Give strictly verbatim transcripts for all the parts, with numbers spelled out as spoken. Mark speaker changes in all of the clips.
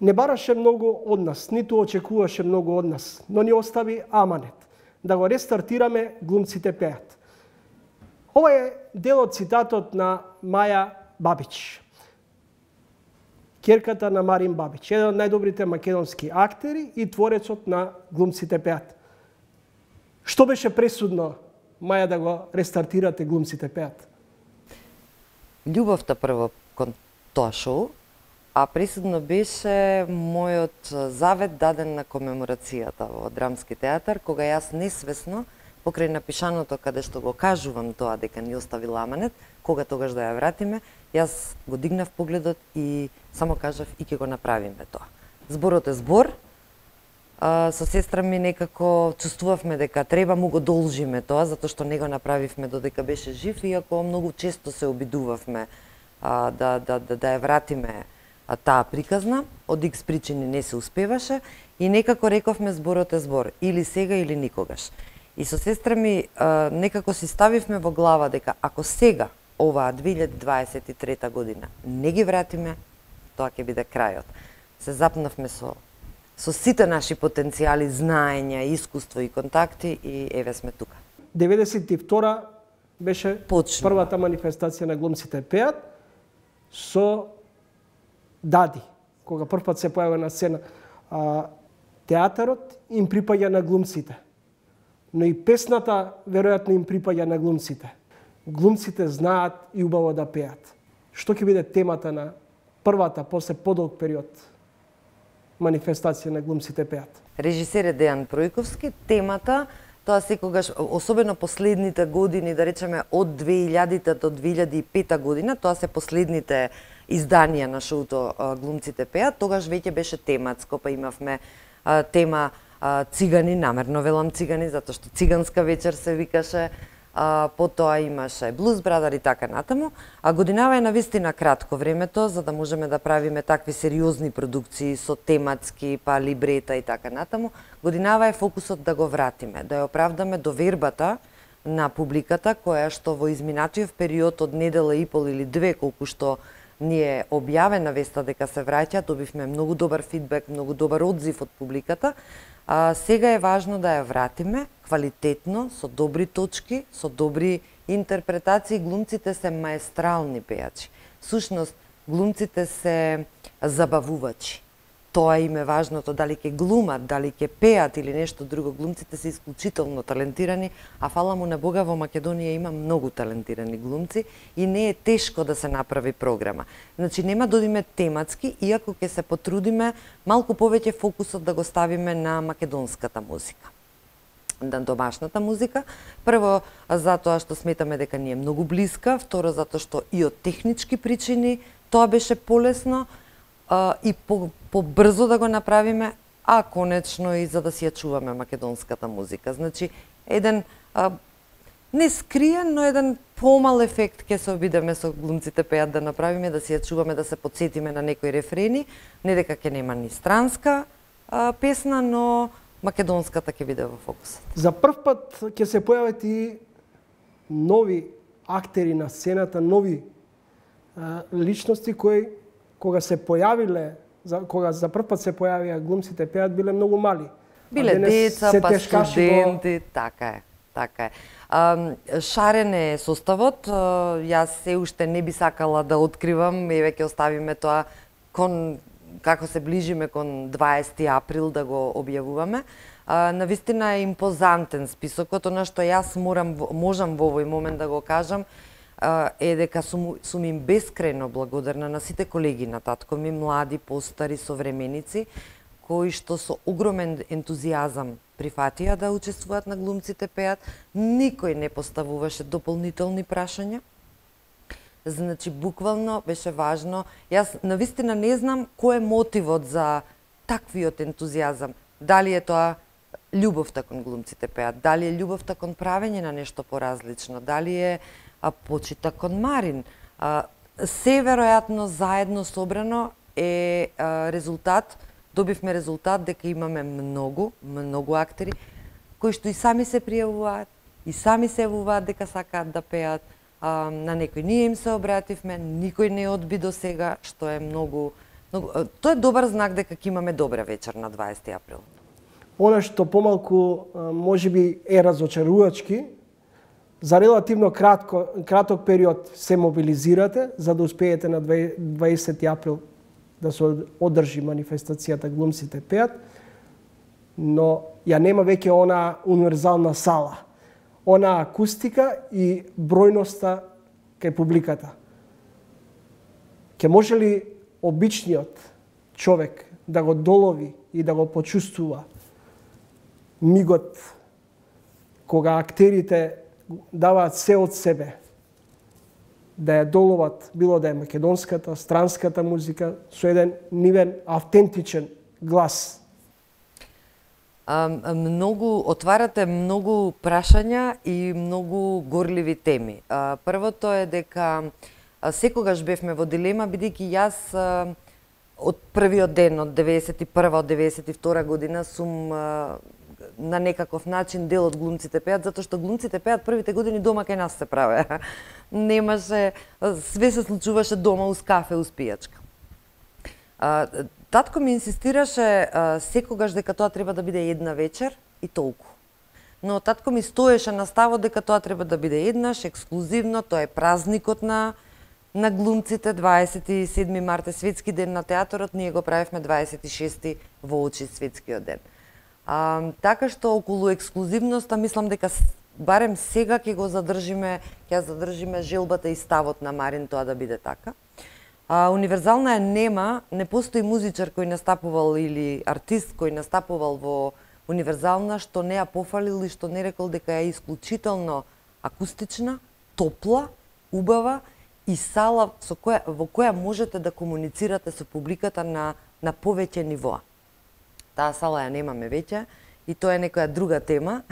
Speaker 1: Не бараше многу од нас, ниту очекуваше многу од нас, но ни остави аманет да го рестартираме Глумците пеат. Ова е дел од цитатот на Маја Бабич, ќерката на Марин Бабич, еден од најдобрите македонски актери и творецот на Глумците пеат. Што беше пресудно, Маја, да го рестартирате Глумците пеат?
Speaker 2: Љубовта прво кон тоа шоу, а пресудно беше мојот завет даден на комеморацијата во Драмски театар, кога јас несвесно, покрај напишаното каде што го кажувам тоа дека ни оставил аманет, кога тогаш да ја вратиме, јас го дигнав погледот и само кажав и ќе го направиме тоа. Зборот е збор, а, со сестра ми некако чувствувавме дека треба му го должиме тоа, затоа што не го направивме додека беше жив, иако многу често се обидувавме а, да, да, да, да ја вратиме а, таа приказна, од икс причини не се успеваше и некако рековме зборот е збор, или сега или никогаш. И со сестра ми а, некако си ставивме во глава дека ако сега, оваа две илјади дваесет и трета година, не ги вратиме, тоа ќе биде крајот. Се запнавме со со сите наши потенцијали, знаења, искуство и контакти и еве сме тука.
Speaker 1: деветдесет и втора беше
Speaker 2: Почнува.
Speaker 1: првата манифестација на Глумците пеат со Дади, кога првпат се појавува на сцена. А, театарот им припаѓа на глумците, но и песната веројатно им припаѓа на глумците. Глумците знаат и убаво да пеат. Што ќе биде темата на првата, после подолг период, манифестација на Глумците пеат?
Speaker 2: Режисер е Дејан Пројковски, темата, тоа секогаш, особено последните години, да речеме од две илјадите до две илјади и пета година, тоа се последните изданија на шоуто Глумците пеат, тогаш веќе беше тематско, па имавме а, тема а, цигани, намерно велам цигани, затоа што циганска вечер се викаше, а, потоа имаше Блуз Брадар и така натаму, а годинава е навистина кратко времето, за да можеме да правиме такви сериозни продукции со тематски, па либрета и така натаму. Годинава е фокусот да го вратиме, да ја оправдаме довербата на публиката, која што во изминатиот период од недела и пол или две, колку што ни е објавена веста дека се враќа, добивме многу добар фидбек, многу добар одзив од публиката. А, сега е важно да ја вратиме квалитетно, со добри точки, со добри интерпретации. Глумците се маестрални пејачи. Сушност, глумците се забавувачи. Тоа им е важното, дали ќе глумат, дали ќе пеат или нешто друго. Глумците се исклучително талентирани, а фала му на Бога во Македонија има многу талентирани глумци и не е тешко да се направи програма. Значи нема да одиме тематски, иако ќе се потрудиме малку повеќе фокусот да го ставиме на македонската музика, на домашната музика. Прво, затоа што сметаме дека ни е многу блиска, второ, затоа што и од технички причини тоа беше полесно, Uh, и по, побрзо да го направиме, а конечно и за да си ја чуваме македонската музика. Значи, еден uh, не скриен, но еден помал ефект ќе се обидеме со Глумците пеат да направиме, да си ја чуваме, да се подсетиме на некои рефрени, не дека ќе нема ни странска uh, песна, но македонската ќе биде во фокусот.
Speaker 1: За прв пат ќе се појават и нови актери на сцената, нови uh, личности кои кога се појавиле, за, кога за прв пат се појавија Глумците пеат, биле многу мали.
Speaker 2: Биле деца, па студенти, по... така е, така е. А, шарен е составот, јас се уште не би сакала да откривам, еве ќе оставиме тоа кон, како се ближиме кон дваесети април да го објавуваме. А, навистина е импозантен списокот, она што јас морам, можам во овој момент да го кажам, е дека сум, сум им бескрајно благодарна на сите колеги на татко ми, млади, постари, современици, кои што со огромен ентузијазам прифатија да учествуваат на Глумците пеат. Никој не поставуваше дополнителни прашања. Значи, буквално беше важно. Јас навистина не знам кој е мотивот за таквиот ентузијазам. Дали е тоа љубовта кон Глумците пеат, дали е љубовта кон правење на нешто поразлично, дали е а почита кон Марин. А, се веројатно заедно собрано е а, резултат, добивме резултат дека имаме многу, многу актери кои што и сами се пријавуваат, и сами се јавуваат дека сакаат да пеат. А, на некои ние им се обративме, никој не одби до сега, што е многу Но тоа е добар знак дека ќе имаме добра вечер на дваесети април.
Speaker 1: Она што помалку можеби е разочарувачки, за релативно кратко, краток период се мобилизирате за да успеете на дваесети април да се одржи манифестацијата Глумците пеат, но ја нема веќе она универзална сала, она акустика и бројноста кај публиката. Ке може ли обичниот човек да го долови и да го почувствува мигот кога актерите даваат се од себе да ја доловат, било да е македонската, странската музика, со еден нивен автентичен глас?
Speaker 2: А, многу, отварате многу прашања и многу горливи теми. А, првото е дека а, секогаш бевме во дилема, бидејќи јас а, од првиот ден, од деветдесет и прва, од деветдесет и втора година сум а, на некаков начин дел од Глумците пеат, затоа што Глумците пеат првите години дома кај нас се праве. Немаше, све се случуваше дома уз кафе, уз пијачка. А, татко ми инсистираше а, секогаш дека тоа треба да биде една вечер и толку. Но татко ми стоеше на ставот дека тоа треба да биде еднаш, ексклузивно, тоа е празникот на на глумците, дваесет и седми март е светски ден на театарот, ние го правевме дваесет и шести воочи светскиот ден. А, така што околу ексклузивноста мислам дека барем сега ќе го задржиме, ќе задржиме желбата и ставот на Марин тоа да биде така. А, универзална е нема, не постои музичар кој настапувал или артист кој настапувал во универзална што не ја пофалил и што не рекол дека е исклучително акустична, топла, убава и сала со која, во која можете да комуницирате со публиката на, на повеќе нивоа. Таа сала ја немаме веќе и тоа е некоја друга тема.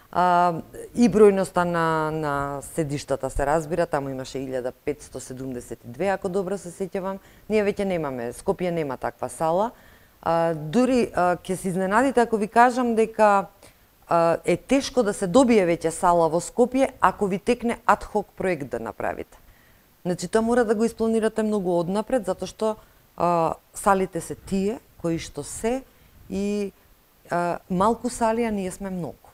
Speaker 2: А, и бројноста на, на седиштата се разбира, таму имаше илјада петстотини седумдесет и две, ако добро се сеќавам. Ние веќе немаме, Скопје нема таква сала. А, дури а, ќе се изненадите ако ви кажам дека а, е тешко да се добие веќе сала во Скопје ако ви текне адхок проект да направите. Значи, тоа мора да го испланирате многу однапред, затоа што а, салите се тие кои што се и а, малку сали, а ние сме многу.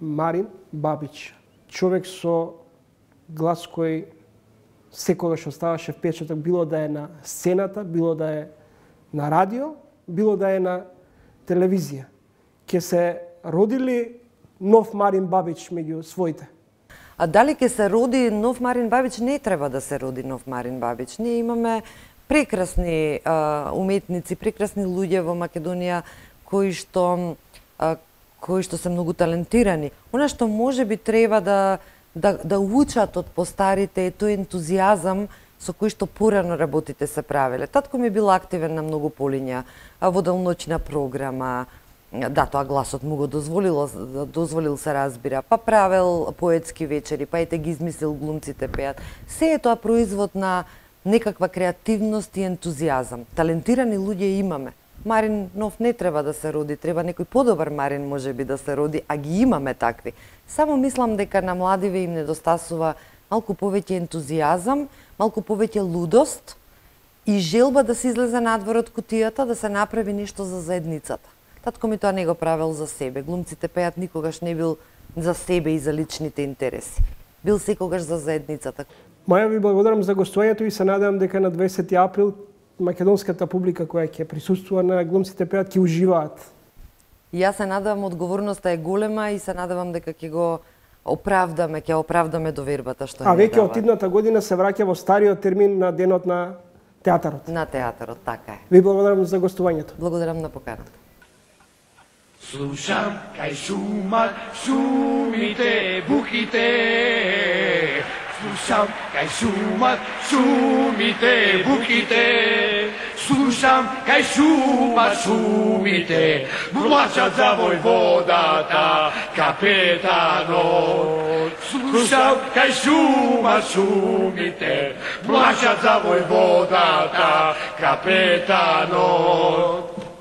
Speaker 1: Марин Бабич, човек со глас кој секогаш оставаше впечаток, било да е на сцената, било да е на радио, било да е на телевизија. Ке се родили нов Марин Бабич меѓу своите?
Speaker 2: А дали ќе се роди нов Марин Бабич? Не треба да се роди нов Марин Бабич. Ние имаме прекрасни а, уметници, прекрасни луѓе во Македонија кои што а, кои што се многу талентирани. Она што може би треба да да да учат од постарите е тој ентузијазам со кој што порано работите се правеле. Татко ми бил активен на многу полиња, во делноќна програма. Да, тоа гласот му го дозволил, дозволил се разбира, па правел поетски вечери, па ете ги измислил Глумците пеат. Се е тоа производ на некаква креативност и ентузијазам. Талентирани луѓе имаме. Марин нов не треба да се роди, треба некој подобар Марин може би да се роди, а ги имаме такви. Само мислам дека на младиве им недостасува малку повеќе ентузијазам, малку повеќе лудост и желба да се излезе надвор од кутијата, да се направи нешто за заедницата. Татко ми тоа не го правел за себе. Глумците пеат никогаш не бил за себе и за личните интереси. Бил секогаш за заедницата.
Speaker 1: Маја, ви благодарам за гостувањето и се надевам дека на дваесети април македонската публика која ќе присуствува на Глумците пеат ќе уживаат.
Speaker 2: И јас се надевам, одговорноста е голема и се надевам дека ќе го оправдаме, ќе оправдаме довербата што
Speaker 1: А веќе од идната година се враќа во стариот термин на денот на театарот.
Speaker 2: На театарот, така е.
Speaker 1: Ви благодарам за гостувањето.
Speaker 2: Благодарам на поканата.
Speaker 3: Слушам кај шумат шумите, буките. Слушам кај шумат шумите, буките. Слушам кај шумат шумите, плачат за војводата, капетанот. Слушам кај шумат шумите, плачат за војводата, капетанот.